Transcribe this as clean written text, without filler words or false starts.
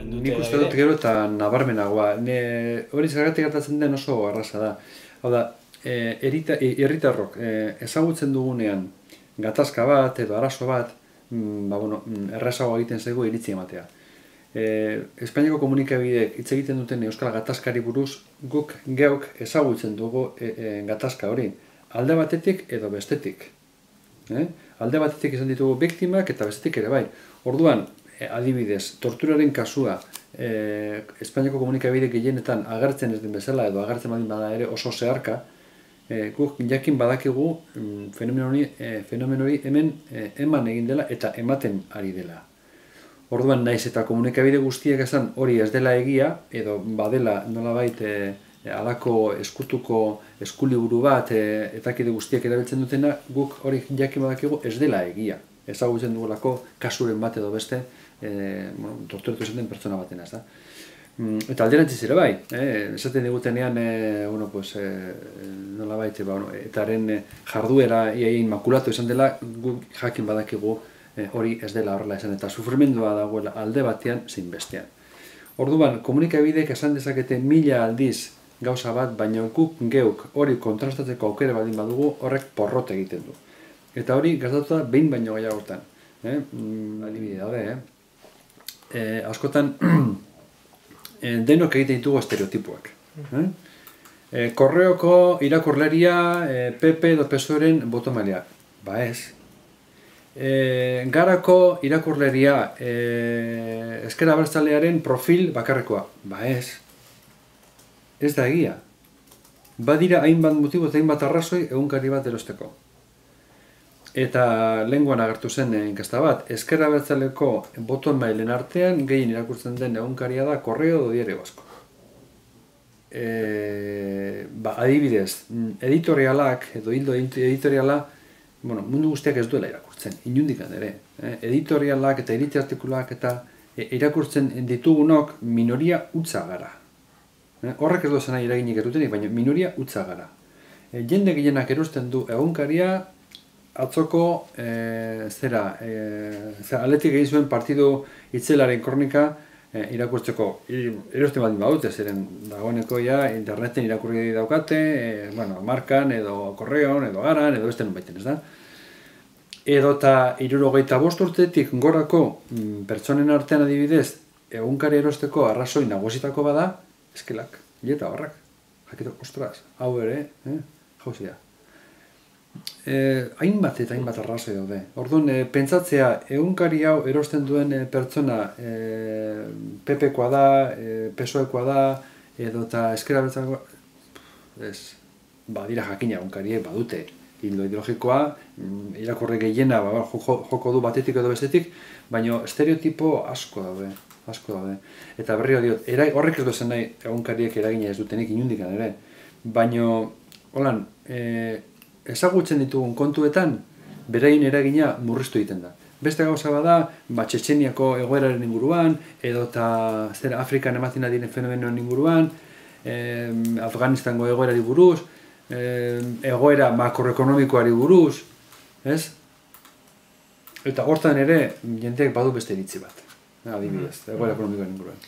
dute. Nik uste dut gero eta nabarmenagoa. Hori zergatik gertatzen den oso arrasa da. Hau da, herritarrok ezagutzen dugunean gatazka bat edo arazo bat, errazago egiten zaigu iritzi ematea. Espainiako komunikabideek hitz egiten duten euskal gatazkari buruz guk geuk ezagutzen dugu gatazka hori. Alde batetik edo bestetik. Alde batetik izan ditugu biktimak eta bestetik ere bai. Orduan, adibidez, torturaren kasua Espainiako komunikabide gehienetan agertzen ez den bezala edo agertzen badin bada ere oso zeharka, guk jakin badakigu fenomen hori hemen eman egin dela eta ematen ari dela. Orduan, naiz eta komunikabide guztiek esan hori ez dela egia edo badela nolabait halako eskutuko eskuliburu bat etakide guztiek erabiltzen dutena, guk hori jakin badakigu ez dela egia. Ezagutzen dugulako kasuren bat edo beste torturatu zen den pertsona batena, ez da. Eta alderantziz ere bai, esaten digutenean nolabait etaren jarduera iain makulatu izan dela, guk jakin badakigu hori ez dela horrela esan, eta sufrimendua dagoela alde batean zein bestean. Orduan, komunikabideek esan dezakete 1000 aldiz gauza bat, baina guk geuk hori kontrastatzeko aukera baldin badugu, horrek porrot egiten du. Eta hori gertatu da behin baino gehiagotan. Adibide daude, askotan denok egiten ditugu estereotipoak. Korreoko irakurleria PP edo PSOEren botomailea. Ba ez. Garako irakurleria ezker abertzalearen profil bakarrekoa. Ba ez. Ez da egia. Badira hainbat motibo eta hainbat arrazoi egunkari bat erosteko. Eta lenguan agertu zen inkesta bat, ezker abertzaleko boton mailen artean gehien irakurtzen den egunkaria da Correo edo Diario Vasco. Adibidez, editorialak edo hildo editoriala, mundu guztiak ez duela irakurtzen, inundikan ere. Editorialak eta iritzi artikuluak eta irakurtzen ditugunok minoria hutsa gara. Horrek ez duzen nahi eraginik erutenik, baina minoria hutsa gara. Jende gehienak erosten du egunkaria atzoko aletik egin zuen partidu itzelaren kronika irakurtzeko. Erosten baldin badute, zeren dagoeneko interneten irakurri daukate, markan edo korreon edo garan edo beste nunbaiten, ez da? Edo eta 75 urtetik gorako pertsonen artean adibidez egunkari erosteko arrazoi nagusitako bada, eskelak, eta horrak. Jakito, ostras, hau ere, jauzia. Hainbat eta hainbat arrazoi daude. Orduan, pentsatzea, egunkari hau erosten duen pertsona PP-koa da, PSOE-koa da, edo eta ezker abertzalekoa, ez, badira jakina egunkariek badute hildo ideologikoa, irakurri gehiena joko du batetik edo bestetik, baina estereotipo asko daude. Eta berriro diot, horrek ez duzen nahi egunkariek eragina ez dutenik inundikan ere, baina, holan, ezagutzen ditugun kontuetan, berain eragina murriztu egiten da. Beste gauza bada, Txetxeniako egoeraren inguruan, edo eta Afrikan ematen diren fenomenoen inguruan, Afganistango egoerari buruz, egoera makroekonomikoari buruz, ez? Eta hortan ere, jendeak badu beste iritzi bat, adibidez, egoera ekonomikoaren inguruan.